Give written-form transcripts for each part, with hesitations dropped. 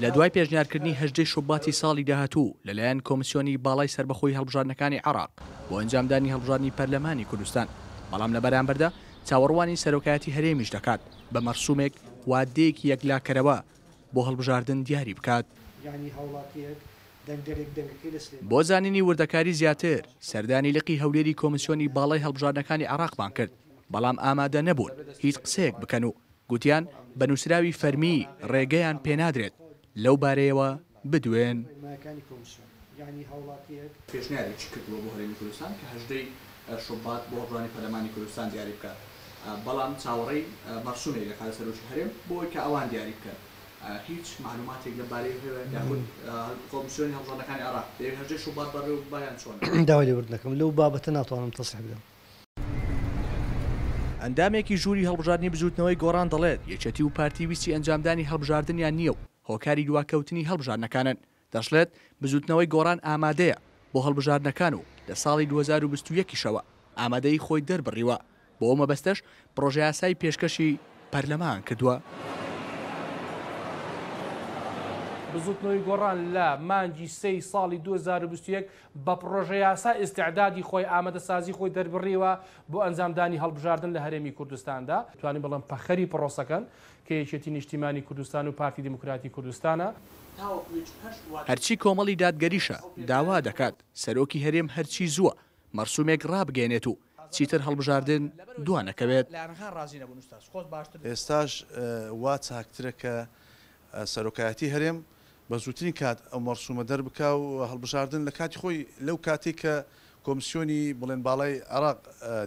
لە دوای پێشنیارکردنی هەژدەی شوباتی ساڵی داهاتوو لەلایەن کۆمسیۆنی باڵای سەربەخۆی هەڵبژاردنەکانی عێراق بۆ ئەنجامدانی هەڵبژاردنی پەرلەمانی کوردستان، بەڵام لە بەرامبەردا چاوەڕوانی سەرۆکایەتی هەرێمیش دەکات بە مەرسومێک وادەیەکی یەکلاکەرەوە بۆ هەڵبژاردن دیاری بکات. بۆ زانینی وردەکاری زیاتر سەردانی لقی هەولێری کۆمسیۆنی باڵای هەڵبژاردنەکانی عێراقمان کرد، بەڵام ئامادە نەبوون هیچ قسەیەک بکەن و گوتیان بە نووسراوی فەرمی ڕێگەیان پێنادرێت لەو بارەیەوە بدوێن. پێشنیارێکی کردووە بۆ هەرێمی کوردستان کە هەژدەی شوبات بۆ هەڵبژاردنی پەرلەمانی کوردستان دیاری بکات، بەڵام چاوەڕێی مەرسومێک دەکات لە سەرۆکی هەرێم بۆ ئەوەی کە ئەوان دیاری بکەن. هیچ مەعلوماتێک لەم بارەیەوە هەیە یاخود کۆمسیۆنی هەڵبژاردنەکانی عێراق دەیەوێت هەژدەی شوبات بەڕێوە ببات یان چۆنە؟ داوای لێبوردن دەکەم لەو بابەتە ناتوانم تەسریح بدەم. ئەندامێکی ژووری هەڵبژاردنی بزووتنەوەی گۆڕان دەڵێت، یەکێتی و پارتی ویستی ئەنجامدانی هەڵبژاردنیان نییە و هۆکاری دواکەوتنی هەڵبژاردنەکانن. دەشڵێت، بزووتنەوەی گۆڕان ئامادەیە بۆ هەڵبژاردنەکان و لە ساڵی 2021 یشەوە ئامادەیی خۆی دەربڕیوە، بۆ ئەو مەبەستەش پڕۆژەیاسای پێشکەشی پەرلەمان کردووە. بزوتنەوەی گۆڕان لە مانگی سێی ساڵی 2021 بە پڕۆژەیاسا ئیستعدادی خۆی، ئامادەسازی خۆی دەربڕیوە بۆ ئەنجامدانی هەڵبژاردن لە هەرێمی کوردستاندا. توانین بڵێم پەخەری پڕۆسەکەن کە یەکێتی نیشتیمانی کوردستان و پارتی دیموکراتی کوردستانە. هەرچی کۆمەڵی دادگەریشە داوا دەکات سەرۆکی هەرێم هەرچی زووە مەرسومێک ڕابگەیەنێت و چیتر هەڵبژاردن دوانەکەوێت. ئێستاش وا چاکترە کە سەرۆکایەتی هەرێم بە زووترین کات ئەو مەرسومە دەربکا و هەڵبژاردن لە کاتی خۆی لەو کاتەی کە کۆمسیۆنی بڵێن باڵای عێراق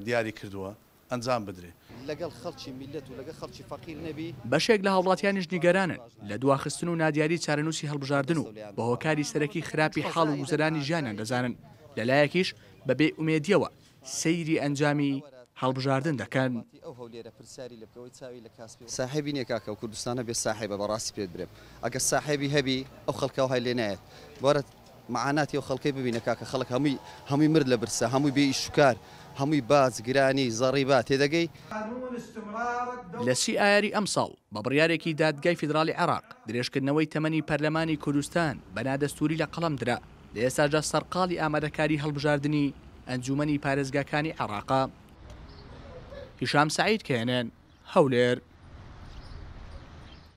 دیاری کردووە ئەنجام بدرێ. لەگەڵ خەڵکی میللەت و لەگەڵ خەڵکی فەقیر نەبی. بەشێک لە هاوڵاتیانیش نیگەرانن لە دواخستن و نادیاری چارەنووسی هەڵبژاردن و بە هۆکاری سەرەکی خراپی حاڵ و گوزەرانی ژیانیان دەزانن، لەلایەکیش بە بێ ئومێدییەوە سەیری ئەنجامی هەڵبژاردن دەکەن. ساحێبی نیە کاکە ئەو کوردستانە بێ ساحێبە بەڕاستی پێت برێم ئەگەر ساحێبی هەبی ئەو خەڵکە وهای لێ نایەت وەرە معاناتی ئەو خەڵکەی ببینە کاکە خەڵک هەمووی هەمووی مرد لە برسا هەمووی بێ ئیش و کار هەمووی باج گرانی زەڕیبا تێدەگەی. لە سی ئایاری ئەمساڵ بە بڕیارێکی دادگای فیدراڵی عێراق، درێژکردنەوەی تەمەنی پەرلەمانی کوردستان بە نادەستووری لە قەڵەم درا، لە ئێستاشدا سەرقاڵی ئامادەکاری هەڵبژاردنی ئەنجوومەنی پارێزگاکانی عێراقە. هیشام سەعید، کەیەنێن، هەولێر.